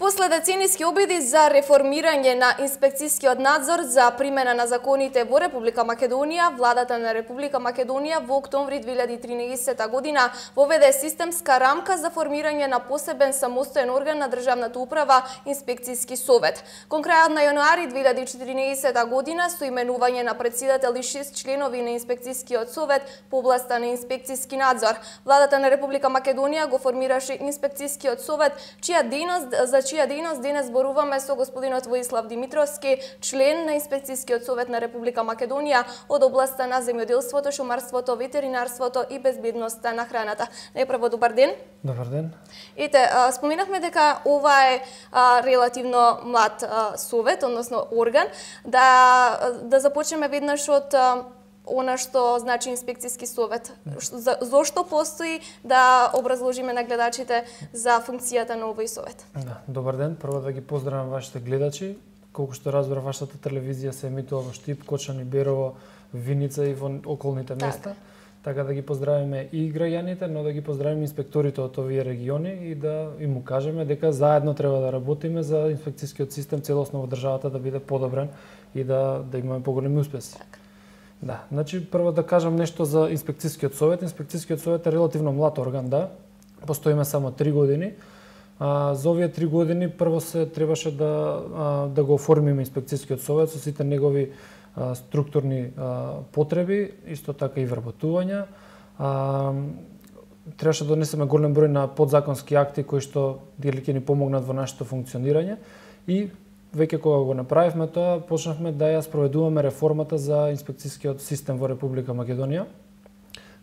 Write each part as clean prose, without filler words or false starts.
После деценијски обиди за реформирање на инспекцијскиот надзор за примена на законите во Република Македонија, владата на Република Македонија во октомври 2013 година воведе системска рамка за формирање на посебен самостоен орган на државната управа инспекцијски совет. Кон крајот на јануари 2014 година со именување на председател и 6 членови на инспекцијскиот совет по областа на инспекцијски надзор, владата на Република Македонија го формираше инспекцијскиот совет, чија дејност денес зборуваме со господинот Воислав Димитровски, член на инспекцијскиот совет на Република Македонија од областа на земјоделството, шумарството, ветеринарството и безбедноста на храната. Најпрво добар ден. Добар ден. Ете, споменавме дека ова е релативно млад совет, односно орган. Да започнеме веднаш од она што значи инспекцијски совет. Зошто постои, да образложиме на гледачите за функцијата на овој совет. Да, добар ден. Прво да ги поздравам вашите гледачи. Колку што разбира, вашата телевизија се емитува во Штип, Кочани, Берово, Виница и во околните места. Така да ги поздравиме и граѓаните, но да ги поздравиме инспекторите од овие региони и да им му кажеме дека заедно треба да работиме за инспекцијскиот систем целосно во државата да биде подобрен и да имаме поголеми успеси. Да, значи прво да кажам нешто за инспекцијскиот совет. Инспекцијскиот совет е релативно млад орган, да. Постоиме само 3 години. За овие 3 години прво се требаше да го оформиме инспекцијскиот совет со сите негови структурни потреби, исто така и вработувања. Требаше да донесеме голем број на подзаконски акти кои што ќе ни помогнат во нашето функционирање и веќе кога го направивме тоа, почнавме да ја спроведуваме реформата за инспекцијскиот систем во Република Македонија.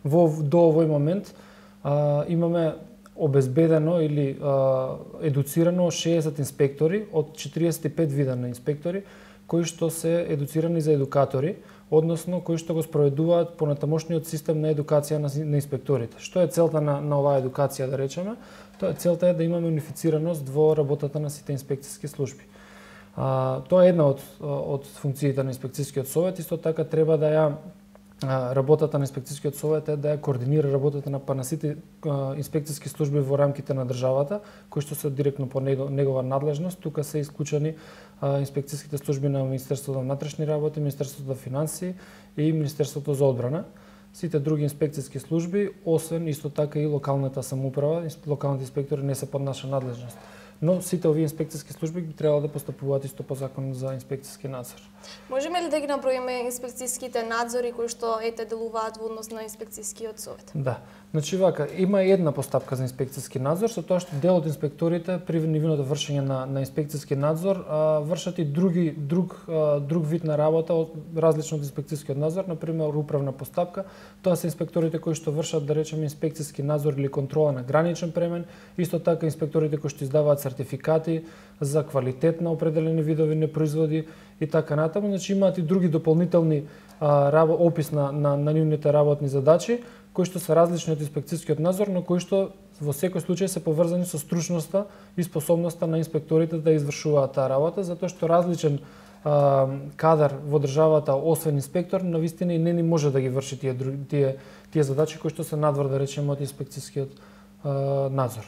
До овој момент имаме обезбедено или едуцирано 60 инспектори од 45 вида на инспектори кои што се едуцирани за едукатори, односно кои што го спроведуваат понатамошниот систем на едукација на инспекторите. Што е целта на оваа едукација, да речеме? Целта е да имаме унифицираност во работата на сите инспекцијски служби. Тоа е една од функциите на инспекцијскиот совет, исто така треба да ја работата на инспекцијскиот совет е да ја координира работата на сите инспекцијски служби во рамките на државата, кои што се директно по негова надлежност. Тука се исклучени инспекцијските служби на Министерството на внатрешни работи, Министерството на финансии и Министерството за одбрана. Сите други инспекцијски служби, освен исто така и локалната самоуправа, локалните инспектори не се под наша надлежност. Но сите овие инспекцијски служби би требало да постапуваат исто по закон за инспекцијски надзор. Можеме ли да ги наброиме инспекцијските надзори кои што делуваат во однос на инспекцијскиот совет? Да. Значи вака, има една постапка за инспекцијски надзор, со тоа што дел од инспекторите при нивното вршење на инспекцијски надзор вршат и друг вид на работа различно од инспекцијскиот надзор, на пример управна постапка. Тоа се инспекторите кои што вршат, да речеме, инспекцијски надзор или контрола на граничен премен, исто така инспекторите кои што издаваат сертификати за квалитет на определени видови непроизводи и така натаму. Значи имаат и други дополнителни опис на нивните работни задачи, кои што се различни од инспекцијскиот надзор, но кои што во секој случај се поврзани со стручноста и способноста на инспекторите да извршуваат таа работа, затоа што различен кадар во државата, освен инспектор, навистина и не може да ги врши тие задачи кои што се надвор, да речеме, од инспекцијскиот надзор.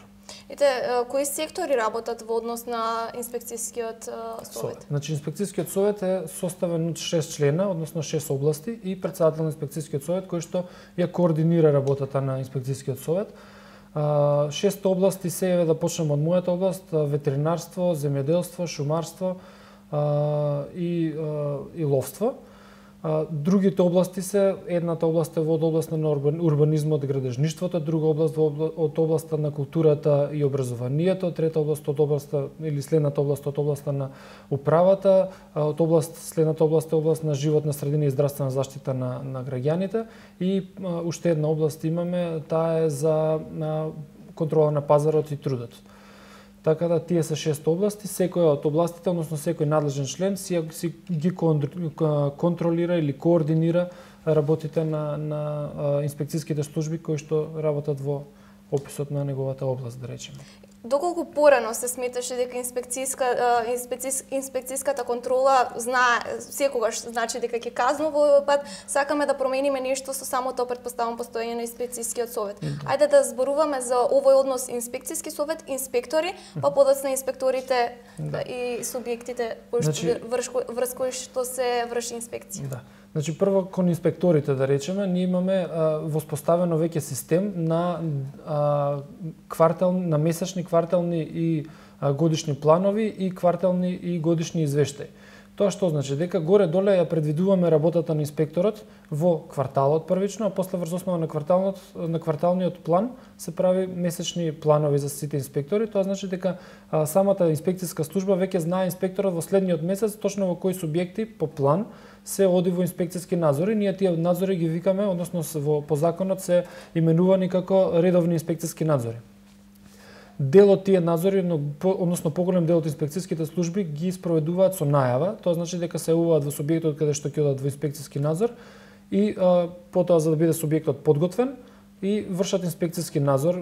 Кои сектори работат во однос на инспекцијскиот совет? Значи, инспекцијскиот совет е составен од 6 члена, односно 6 области и председател на инспекцијскиот совет кој што ја координира работата на инспекцијскиот совет. 6 области се да почнеме од мојата област: ветеринарство, земјоделство, шумарство и ловство. Другите области се, едната област е во областа на урбанизмот и градежништвото, друга област од областа на културата и образованието, трета област од областа или следната област од областа на управата, следната област е област на животна средина и здравствена заштита на граѓаните и уште една област имаме, таа е за контрола на пазарот и трудот. Така да тие се 6 области, секоја од областите, односно секој надлежен член си ги контролира или координира работите на инспекцијските служби кои што работат во описот на неговата област, да речеме. Доколку порано се сметаше дека инспекцијската контрола секогаш значи дека ќе казнува, овој пат сакаме да промениме нешто со самото претпоставено постоење на инспекцијскиот совет. Ајде да зборуваме за овој однос инспекцијски совет, инспектори, па подоцна инспекторите и субјектите врз кои што се врши инспекција. Да. Значи, прво кон инспекторите, да речеме, ние имаме воспоставено веќе систем на месечни, квартални и годишни планови и квартални и годишни извештаи. Тоа што значи дека горе-доле ја предвидуваме работата на инспекторот во кварталот првично, а после врз основа на кварталниот план се прави месечни планови за сите инспектори. Тоа значи дека самата инспекцијска служба веќе знае инспекторот во следниот месец точно во кои субјекти по план се оди во инспекцијски надзори. Ние тие надзори ги викаме, односно по законот се именувани како редовни инспекцијски надзори. Дел од тие надзори, односно поголем дел од инспекцијските служби ги спроведуваат со најава. Тоа значи дека се јавуваат во субјектот каде што ќе одат во инспекцијски надзор и потоа за да биде субјектот подготвен и вршат инспекцијски надзор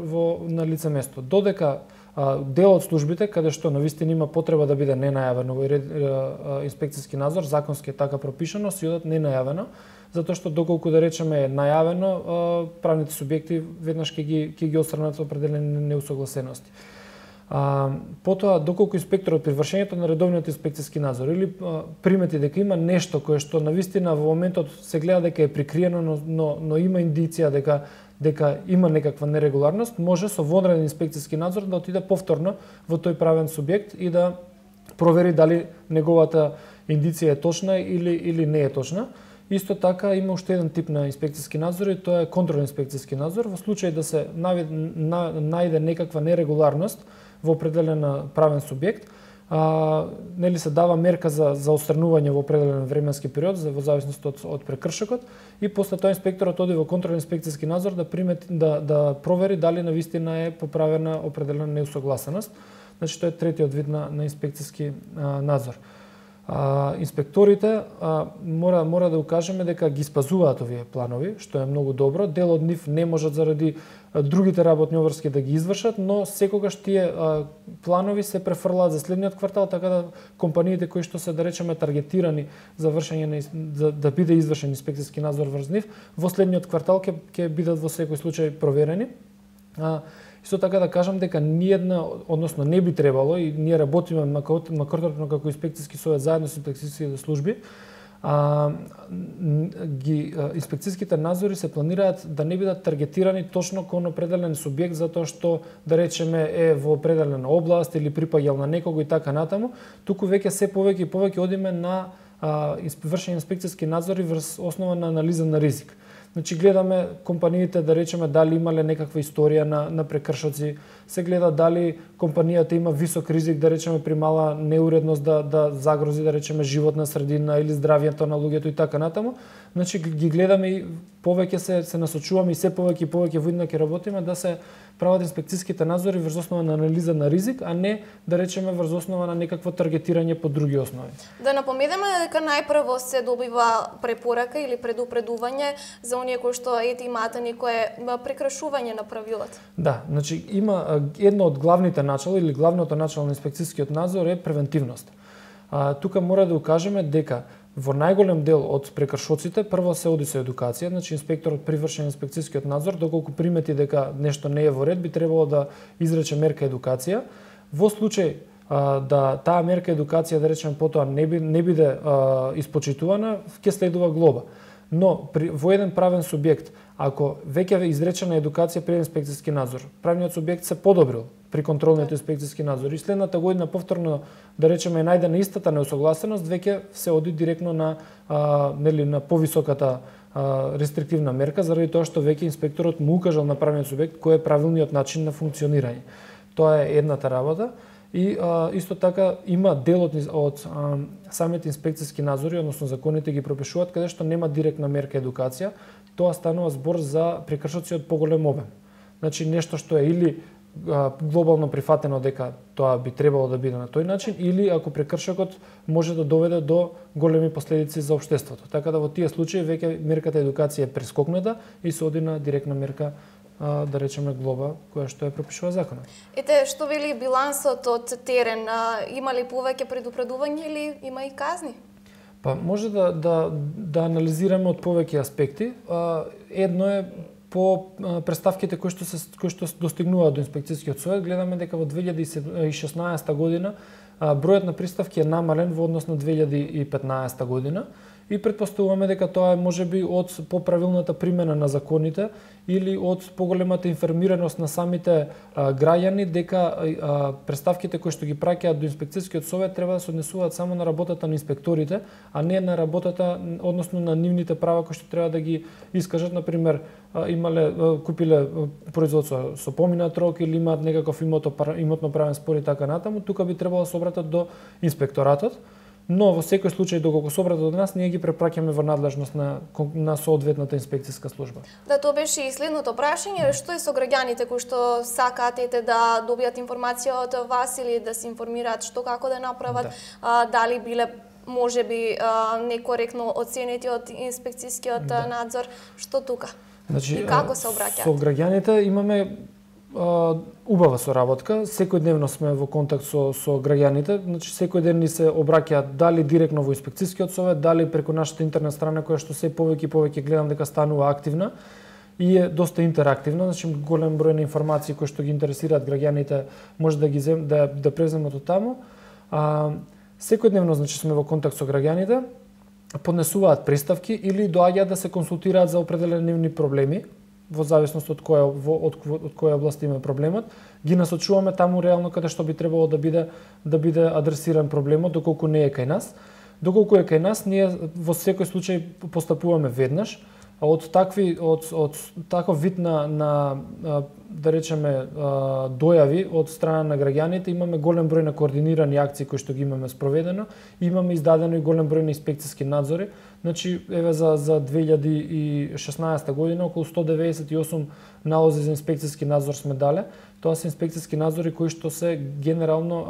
на лице место. Додека дел од службите каде што навистина има потреба да биде ненајавен овој инспекцијски надзор, законски е така пропишано, си одат ненајавено, затоа што доколку да речеме е најавено, правните субјекти веднаш ќе ги отстранат определени неусогласености. Потоа, доколку инспекторот при вршењето на редовниот инспекцијски надзор или примети дека има нешто кое што навистина во моментот се гледа дека е прикриено, но има индиција дека има некаква нерегуларност, може со вонреден инспекцијски надзор да отиде повторно во тој правен субјект и да провери дали неговата индиција е точна или не е точна. Исто така има уште еден тип на инспекцијски надзор и тоа е контролен инспекцијски надзор. Во случај да се најде некаква нерегуларност во определен правен субјект, нели се дава мерка за отстранување во определен временски период во зависност од прекршокот и после тоа инспекторот оди во контролен инспекцијски надзор да провери дали навистина е поправена определена неусогласеност. Значи тоа е третиот вид на инспекцијски надзор. Инспекторите мора да укажеме дека ги спазуваат овие планови, што е многу добро. Дел од нив не можат заради другите работни обврски да ги извршат, но секогаш тие планови се префрлаат за следниот квартал, така да компаниите кои што се, да речеме, таргетирани за вршење да биде извршен инспекцијски надзор врз нив, во следниот квартал ќе бидат во секој случај проверени. Исто така да кажам дека ниедна, односно не би требало и ние работиме макротопно како инспекцијски совет заедно со инспекцијските служби, инспекцијските надзори се планираат да не бидат таргетирани точно кон определен субјект затоа што, да речеме, е во определена област или припаѓал на некого и така натаму, туку веќе се повеќе и повеќе одиме на вршење инспекцијски надзори врз основа на анализа на ризик. Значи гледаме компаниите, да речеме, дали имале некаква историја на прекршоци, се гледа дали компанијата има висок ризик, да речеме, при мала неуредност да загрози, да речеме, животна средина или здравјето на луѓето и така натаму. Значи ги гледаме и повеќе се насочуваме и се повеќе и повеќе воидно ќе работиме да се прават инспекцијските надзори врз основа на анализа на ризик, а не, да речеме, врз основа на некакво таргетирање по други основи. Да напомнеме дека најпрво се добива препорака или предупредување за оние кои што имаат некое прекрашување на правилата. Да, значи има едно од главните начала или главното начало на инспекцијскиот надзор е превентивност. Тука мора да укажеме дека во најголем дел од прекршоците прво се оди со едукација, значи инспекторот при вршење инспекцијскиот надзор, доколку примети дека нешто не е во ред, би требало да изрече мерка едукација. Во случај да таа мерка едукација, да речеме, потоа не биде испочитувана, ќе следува глоба. Но во еден правен субјект, ако веќе е изречена едукација при инспекцијски надзор, правниот субјект се подобрил при контролниот инспекцијски надзор и следната година повторно да речеме е најдена истата неусогласеност, веќе се оди директно на на повисоката рестриктивна мерка, заради тоа што веќе инспекторот му укажал на правниот субјект кој е правилниот начин на функционирање. Тоа е едната работа. И исто така има дел од самите инспекцијски надзори, односно законите ги пропишуваат каде што нема директна мерка едукација, тоа станува збор за прекршоци од поголем обем. Значи нешто што е или глобално прифатено дека тоа би требало да биде на тој начин, или ако прекршокот може да доведе до големи последици за општеството. Така да во тие случаи веќе мерката едукација е прескокната и се оди на директна мерка, да речеме глоба, која што ја пропишува законот. Ете, што вели билансот од терен? Има ли повеќе предупредување или има и казни? Па може да анализираме од повеќе аспекти. Едно е по представките кои што достигнуваат до инспекцијскиот совет, гледаме дека во 2016 година бројот на приставки е намален во однос на 2015 година. И претпоставуваме дека тоа е можеби од поправилната примена на законите или од поголемата информираност на самите граѓани дека представките кои што ги праќаат до инспекцијскиот совет треба да се однесуваат само на работата на инспекторите, а не на работата, односно на нивните права кои што треба да ги искажат, например, купиле производство со поминат рок или имаат некаков имотно правен спор и така натаму, тука би требало да се обратат до инспекторатот. Но во секој случај, доколку се обратат од нас, ние ги препраќаме во надлежност на соодветната инспекцијска служба. Да, тоа беше и следното прашање. Што е со граѓаните кои што сакаат да добијат информација од вас или да се информираат што како да направат, дали биле можеби некоректно оценети од инспекцијскиот надзор, што тука? Значи, и како се обраќаат? Со граѓаните имаме убава соработка, секојдневно сме во контакт со граѓаните, значи секој ден ни се обраќаат дали директно во инспекцијскиот совет, дали преку нашата интернет страна која што се повеќе и повеќе гледам дека станува активна и е доста интерактивна, значи голем број на информации кои што ги интересираат граѓаните може да ги да преземат од таму. Секојдневно значи сме во контакт со граѓаните, поднесуваат приставки или доаѓаат да се консултираат за определени нивни проблеми, во зависност од која област има проблемот, ги насочуваме таму реално каде што би требало да биде адресиран проблемот, доколку не е кај нас. Доколку е кај нас, ние во секој случај постапуваме веднаш, а од таков вид на да речеме дојави од страна на граѓаните имаме голем број на координирани акции кои што ги имаме спроведено, имаме издадено и голем број на инспекцијски надзори. Значи еве за 2016 година околу 198 налози за инспекцијски надзор сме дале. Тоа се инспекцијски надзори кои што се генерално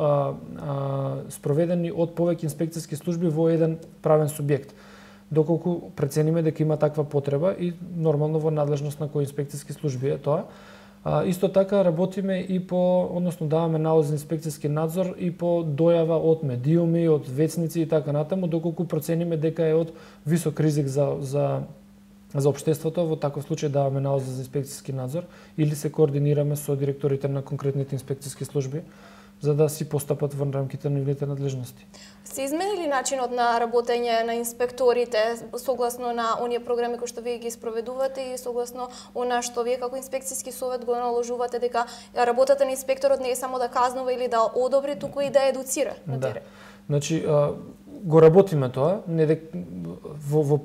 спроведени од повеќе инспекцијски служби во еден правен субјект. Доколку прецениме дека има таква потреба и нормално во надлежност на кои инспекцијски служби е тоа. Исто така работиме и односно даваме налози за инспекцијски надзор и по дојава од медиуми, од вецници и така натаму, доколку процениме дека е од висок ризик за општеството, во таков случај даваме налози за инспекцијски надзор или се координираме со директорите на конкретните инспекцијски служби за да си постапат во рамките на нивните надлежности. Се изменили начинот на работење на инспекторите согласно на оние програми кои што вие ги спроведувате и согласно она што вие како инспекцијски совет го наложувате дека работата на инспекторот не е само да казнува или да одобри, туку и да едуцира на терен? Значи, го работиме тоа,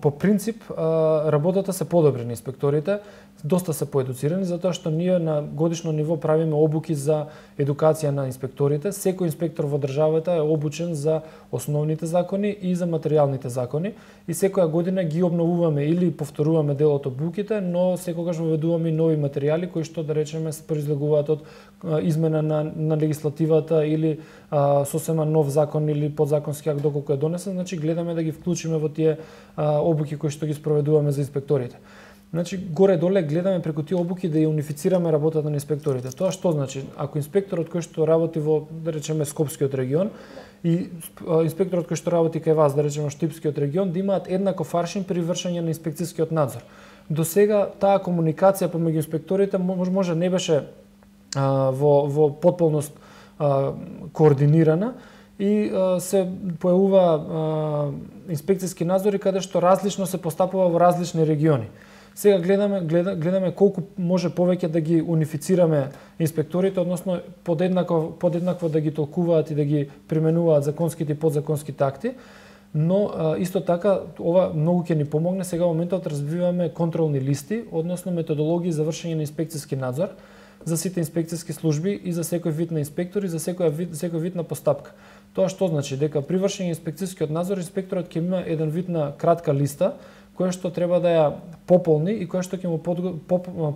по принцип работата се подобри на инспекторите, доста се поедуцирани затоа што ние на годишно ниво правиме обуки за едукација на инспекторите. Секој инспектор во државата е обучен за основните закони и за материјалните закони и секоја година ги обновуваме или повторуваме дел од обуките, но секогаш воведуваме и нови материјали кои што да речеме се произлегуваат од измена на легислативата или сосема нов закон или подзаконски акт доколку е донесен, значи гледаме да ги вклучиме во тие обуки кои што ги спроведуваме за инспекторите. Значи, горе-доле гледаме преку тие обуки да ја унифицираме работата на инспекторите. Тоа што значи? Ако инспекторот кој што работи во, да речеме, Скопскиот регион и инспекторот кој што работи кај вас, да речеме, Штипскиот регион, да имаат еднаков аршин при вршење на инспекцијскиот надзор. До сега таа комуникација помеѓу инспекторите може не беше во потполност координирана и се појавува инспекцијски надзори каде што различно се постапува во различни региони. Сега гледаме колку може повеќе да ги унифицираме инспекторите, односно подеднакво да ги толкуваат и да ги применуваат законските и подзаконските акти, но исто така ова многу ќе ни помогне. Сега во моментот развиваме контролни листи, односно методологии за вршење на инспекцијски надзор за сите инспекцијски служби и за секој вид на инспектори, за секој вид на постапка. Тоа што значи дека при вршење инспекцијскиот надзор инспекторот ќе има еден вид на кратка листа која што треба да ја пополни и која што ќе му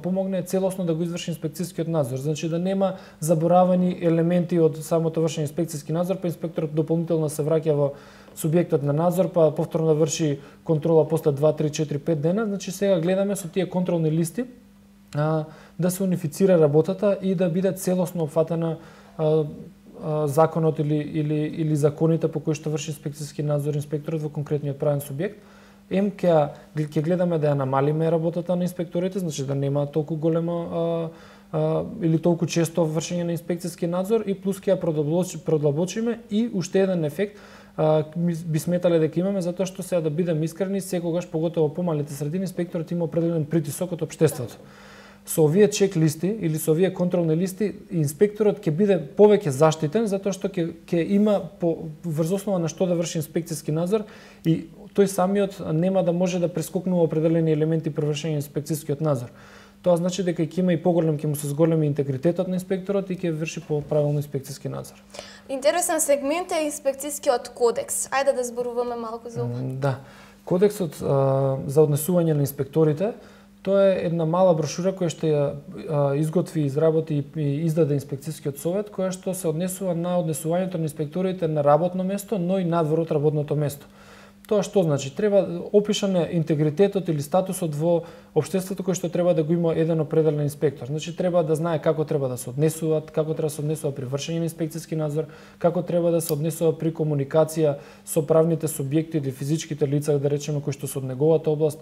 помогне целосно да го изврши инспекцијскиот надзор. Значи да нема заборавани елементи од самото вршење инспекцијски надзор, па инспекторот дополнително се враќа во субјектот на надзор, па повторно да врши контрола после 2, 3, 4, 5 дена. Значи сега гледаме со тие контролни листи да се унифицира работата и да биде целосно опфатена законот или законите по кои што врши инспекцијски надзор инспекторот во конкретниот правен субјект. Ќе гледаме да ја намалиме работата на инспекторите, значи да нема толку голема или толку често вршење на инспекцијски надзор, и плюс ќе ја продлабочиме. И уште еден ефект би сметале дека имаме, затоа што сега да бидем искрени, секогаш поготово помалите средини инспекторот има определен притисок од општеството. Со овие чек листи или со овие контролни листи инспекторот ќе биде повеќе заштитен, затоа што ќе има врз основа на што да врши инспекцијски надзор, и тој самиот нема да може да прескокнува определени елементи при вршење на инспекцијскиот надзор. Тоа значи дека ќе има и ќе му се зголеми интегритетот на инспекторот и ќе врши правилно инспекцијски надзор. Интересен сегмент е инспекцијскиот кодекс. Ајде да зборуваме малку за ова. Да. Кодексот за однесување на инспекторите, тоа е една мала брошура која што ја изготви, изработи и издаде инспекцијскиот совет, која што се однесува на однесувањето на инспекторите на работно место, но и надвор од работното место. Тоа што значи? Треба опишан е интегритетот или статусот во општеството кој што треба да го има еден определен инспектор. Значи треба да знае како треба да се однесуваат, како треба да се однесува при вршење на инспекцијски надзор, како треба да се однесува при комуникација со правните субјекти или физичките лица, да речеме, кои што се од неговата област,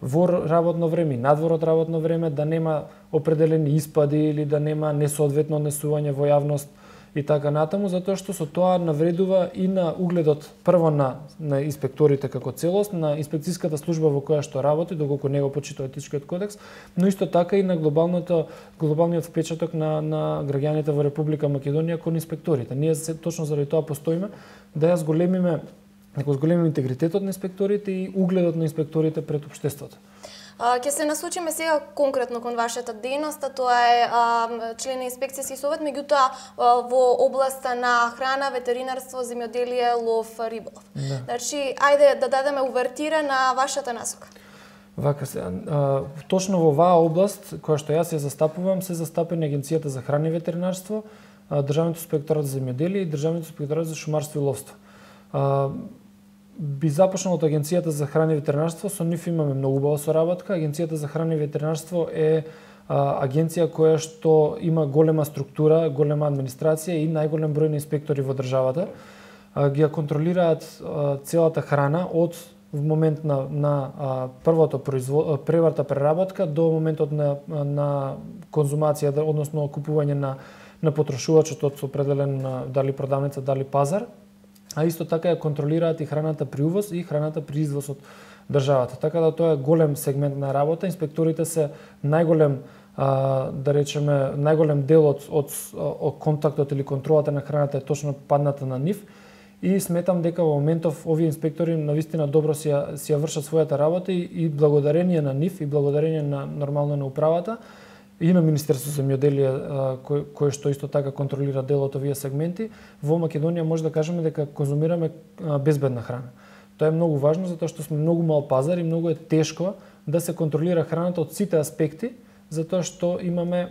во работно време и надвор од работно време, да нема определени испади или да нема несоодветно однесување во јавност и така натаму, затоа што со тоа навредува и на угледот прво на инспекторите како целост, на инспекцијската служба во која што работи, доколку него почитува етичкиот кодекс, но исто така и на глобалниот впечаток на граѓаните во Република Македонија кон инспекторите. Ние точно заради тоа постоиме да ја зголемиме интегритетот на инспекторите и угледот на инспекторите пред општеството. Ќе се насочиме сега конкретно кон вашата дејност, тоа е член на инспекцијски совет, меѓутоа во областа на храна, ветеринарство, земјоделие, лов, риболов. Да. Значи, ајде да дадеме увертира на вашата насока. Вака се, точно во оваа област која што јас ја застапувам, се застапени Агенцијата за храна и ветеринарство, Државниот инспекторат за земјоделие и Државниот инспекторат за шумарство и ловство. Би започнал од Агенцијата за храна и ветеринарство, со нив имаме многу убава соработка. Агенцијата за храна и ветеринарство е агенција која што има голема структура, голема администрација и најголем број на инспектори во државата. Ги ја контролираат целата храна од момент на преварта преработка до моментот на конзумација, односно купување на потрошувачот од определен дали продавница, дали пазар. А исто така ја контролираат и храната при увоз и храната при извоз од државата. Така да тоа е голем сегмент на работа. Инспекторите се најголем дел од контактот или контролата на храната е точно падната на нив. И сметам дека во моментов овие инспектори навистина добро си ја вршат својата работа и благодарение на нив и благодарение на нормално на управата и на Министерство за земјоделие кој што исто така контролира дел од овие сегменти, во Македонија може да кажеме дека конзумираме безбедна храна. Тоа е многу важно затоа што сме многу мал пазар и многу е тешко да се контролира храната од сите аспекти, затоа што имаме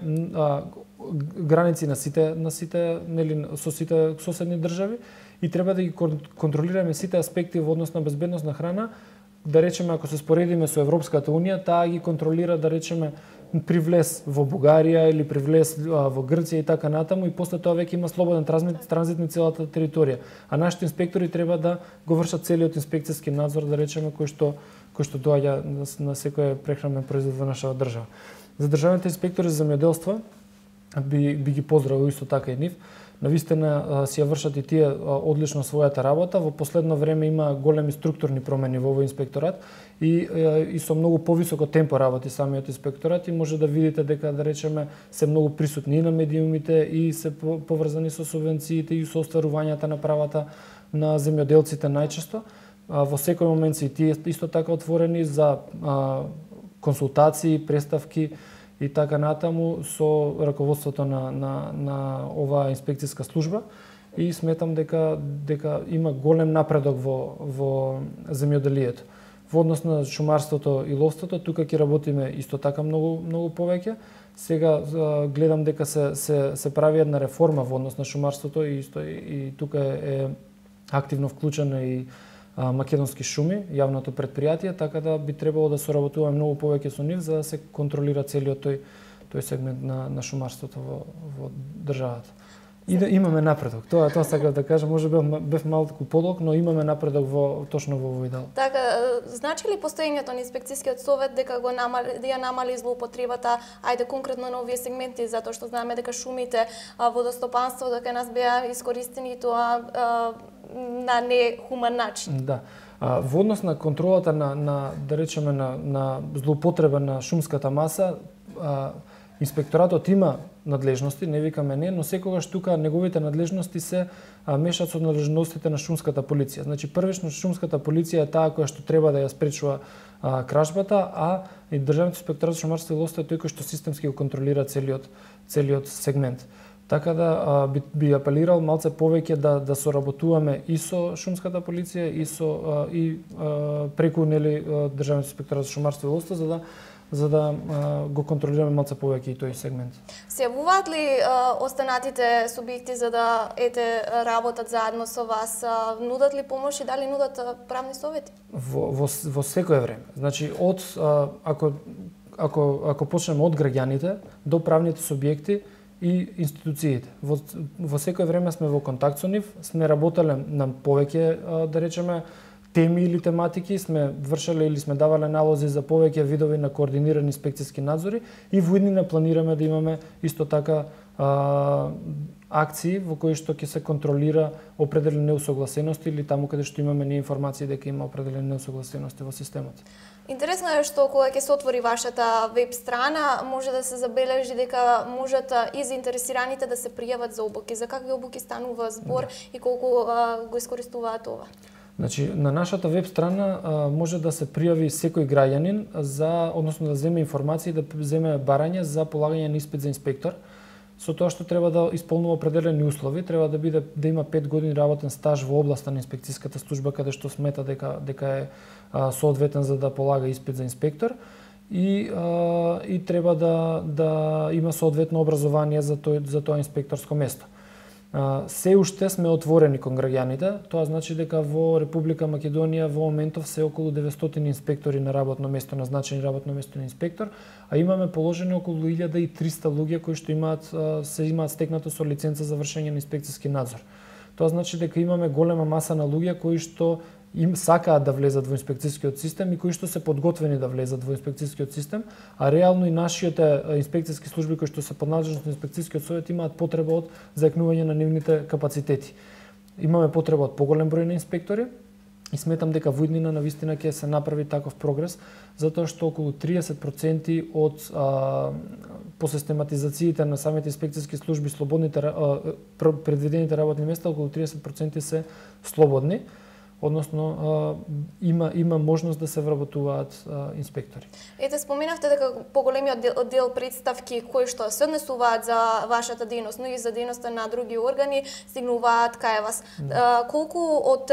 граници со сите соседни држави и треба да ги контролираме сите аспекти во однос на безбедност на храна. Да речеме, ако се споредиме со Европската Унија, таа ги контролира, да речеме, при влез во Бугарија или при влез во Грција и така натаму, и после тоа веќе има слободен транзит на целата територија. А нашите инспектори треба да го вршат целиот инспекцијски надзор, да речеме, кој што доаѓа на секој прехранен производ во нашата држава. За државните инспектори за земјоделство би ги поздравил исто така и нив. Навистина си ја вршат и тие одлично својата работа. Во последно време има големи структурни промени во овој инспекторат и со многу повисоко темпо работи самиот инспекторат и може да видите дека, да речеме, се многу присутни и на медиумите и се поврзани со субвенциите и со остварувањата на правата на земјоделците најчесто. Во секој момент се и тие исто така отворени за консултации, представки и така натаму со раководството на оваа инспекцијска служба и сметам дека има голем напредок во земјоделието. Во однос на шумарството и ловството, тука ќе работиме исто така многу повеќе. Сега гледам дека се прави една реформа во однос на шумарството и тука е активно вклучена и Македонски шуми, јавното предпријатие, така да би требало да соработуваме многу повеќе со нив за да се контролира целиот тој сегмент на шумарството во државата. И да имаме напредок. Тоа сакав да кажам, може бев малку подолг, но имаме напредок точно во овој дел. Така, значи ли постоењето на инспекцијскиот совет дека ја намали злоупотребата, ајде конкретно на овие сегменти, затоа што знаеме дека шумите, водостопанството дека нас беа искористени тоа на нехуман начин. Да. Во однос на контролата да речеме на злоупотреба на шумската маса, инспекторатот има надлежности, не викаме не, но секогаш тука неговите надлежности се мешат со надлежностите на шумската полиција. Значи првично шумската полиција е таа која што треба да ја спречува кражбата, а и државниот инспекторат за шумарство и ловство е тој кој што системски го контролира целиот сегмент. Така да би апелирал малце повеќе да соработуваме и со шумската полиција и преку државниот инспекторат за шумарство и ловство за да го контролираме малце повеќе и тој сегмент. Се јавуваат ли останатите субјекти за да работат заедно со вас? Нудат ли помош и дали нудат правни совети? Во секое време. Значи ако почнеме од граѓаните до правните субјекти и институциите. Во секое време сме во контакт со нив, сме работеле на повеќе, да речеме, теми или тематики, сме вршеле или сме давале налози за повеќе видови на координирани инспекцијски надзори и во иднина планираме да имаме исто така акции во кои што ќе се контролира определени неусогласености или таму каде што имаме информации дека има определени неусогласености во системот. Интересно е што кога ќе се отвори вашата веб страна, може да се забележи дека можат и заинтересираните да се пријават за обуки. За какви обуки станува збор и колку го искористуваат ова? Значи, на нашата веб страна може да се пријави секој граѓанин односно да земе информации и да земе барање за полагање на испит за инспектор. Со тоа што треба да исполнува определени услови, треба да има 5 години работен стаж во областа на инспекцијската служба каде што смета дека е соодветен за да полага испит за инспектор и треба да има соодветно образование за тоа инспекторско место. Се уште сме отворени кон граѓаните, тоа значи дека во Република Македонија во моментов се околу 900 инспектори на работно место, назначени работно место на инспектор, а имаме положени околу 1300 луѓе кои што имаат стекнато со лиценца за вршење на инспекцијски надзор. Тоа значи дека имаме голема маса на луѓе кои што им сакаат да влезат во инспекцијскиот систем и кои што се подготвени да влезат во инспекцијскиот систем, а реално и нашите инспекцијски служби кои што се под надлежност на инспекцијскиот совет имаат потреба од зајакнување на нивните капацитети. Имаме потреба од поголем број на инспектори и сметам дека во иднина навистина ќе се направи таков прогрес, затоа што околу 30% од по систематизациите на самите инспекцијски служби предвидените работни места, околу 30% се слободни. Односно има можност да се вработуваат инспектори. Ете, споменавте дека поголемиот дел представки кои што се однесуваат за вашата дејност, но и за дејноста на други органи, стигнуваат кај вас. Колку од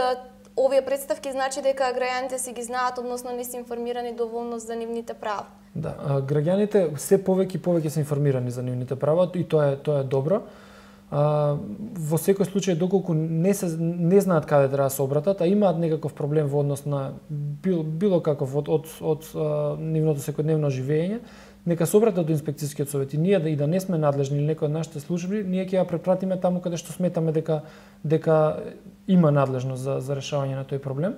овие представки значи дека граѓаните си ги знаат, односно не се информирани доволно за нивните права? Да, граѓаните се повеќе се информирани за нивните права и тоа е добро. Во секој случај доколку не знаат каде треба да се обратат, а имаат некаков проблем во однос на било каков од нивното секојдневно живење, нека се обратат до инспекцијскиот совет и ние да не сме надлежни или некој од нашите служби, ние ќе ја препратиме таму каде што сметаме дека има надлежност за решавање на тој проблем.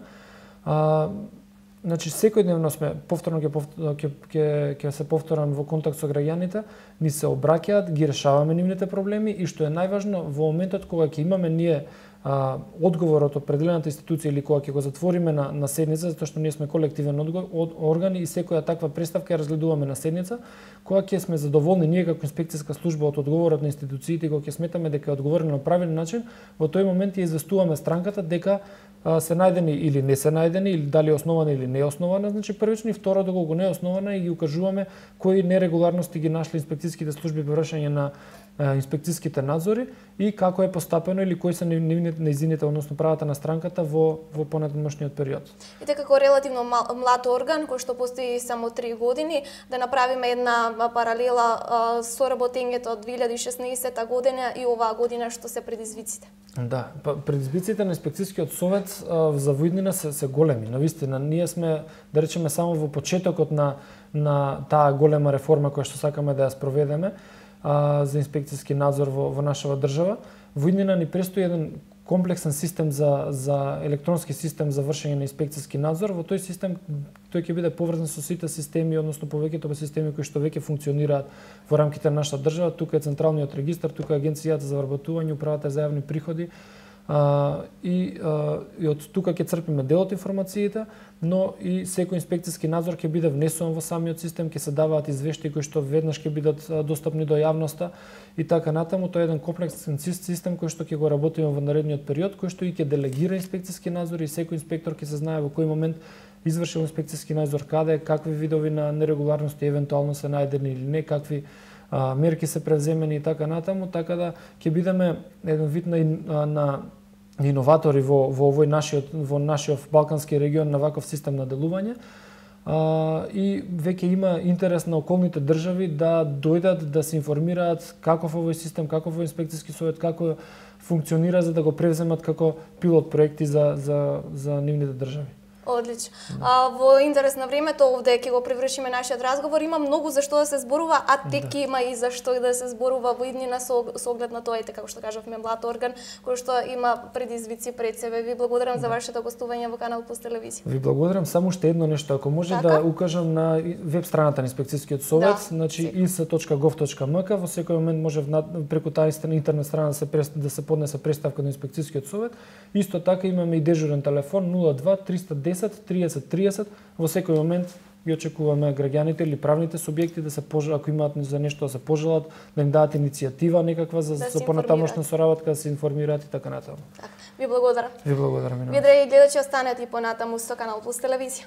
Значи секојдневно сме повторно ќе се повторам во контакт со граѓаните, ни се обраќаат, ги решаваме нивните проблеми и што е најважно во моментот кога ќе имаме ние одговор од определената институција или кога ќе го затвориме на седница, затоа што ние сме колективен орган и секоја таква преставка ја разгледуваме на седница, кога ќе сме задоволни ние како инспекцијска служба од одговорот на институциите, кога ќе сметаме дека е одговорено на правилен начин, во тој момент ја известуваме странката дека се најдени или не се најдени, или дали е основана или не е основана, значи првично и второ доколку не е основана и ги укажуваме кои нерегуларности ги нашли инспекцијските служби во вршење на инспекцијските надзори и како е постапено или кои се нејзините, односно правата на странката во понатамошниот период. И така како релативно млад орган кој што постои само 3 години, да направиме една паралела со работењето од 2016 година и оваа година што се предизвиците. Да, предизвиците на инспекцијскиот совет за воиднина се големи. Навистина, ние сме, да речеме, само во почетокот на таа голема реформа која што сакаме да ја спроведеме за инспекцијски надзор во нашава држава. Воиднина ни престои еден комплексен систем за електронски систем за вршење на инспекцијски надзор. Во тој систем тој ќе биде поврзан со сите системи, односно повеќето системи кои што веќе функционираат во рамките на нашата држава. Тука е централниот регистар, тука е Агенцијата за вработување, управата за јавни приходи. И од тука ќе црпиме дел од информациите, но и секој инспекцијски надзор ќе биде внесен во самиот систем, ќе се даваат извештаи кои што веднаш ќе бидат достапни до јавноста и така натаму. Тоа е еден комплексен систем кој што ќе го работиме во наредниот период, кој што и ќе делегира инспекцијски надзор и секој инспектор ќе се знае во кој момент извршил инспекцијски надзор, каде, какви видови на нерегуларности евентуално се најдени или не, какви мерки се превземени и така натаму, така да ќе бидеме еден вид на иноватори во нашиот балкански регион на ваков систем на делување. И веќе има интерес на околните држави да дојдат да се информираат каков овој систем, каков овој инспекцијски совет, како функционира за да го превземат како пилот проекти за нивните држави. Одлично. Во интерес на времето овде ќе го привршиме нашиот разговор. Има многу за што да се зборува, а тек има и за што да се зборува во иднина со оглед на тоа, и како што кажавме, млад орган кој што има предизвици пред себе. Ви благодарам за вашето гостување во Канал Плюс телевизија. Ви благодарам, само уште едно нешто, ако може да укажам на веб страната на инспекцијскиот совет, значи is.gov.mk, во секој момент може преку таа интернет страна да се поднесе преставка на инспекцијскиот совет. Исто така имаме и дежурен телефон 02 310 30 30. Во секој момент ги очекуваме граѓаните или правните субјекти да се ако имаат за нешто да се пожелат, да им дадат иницијатива некаква за понатамошна соработка, да се информираат и така натаму. Ви благодарам. Ви благодарам. Ви, драги гледачи, останете и понатаму со Канал Плюс телевизија.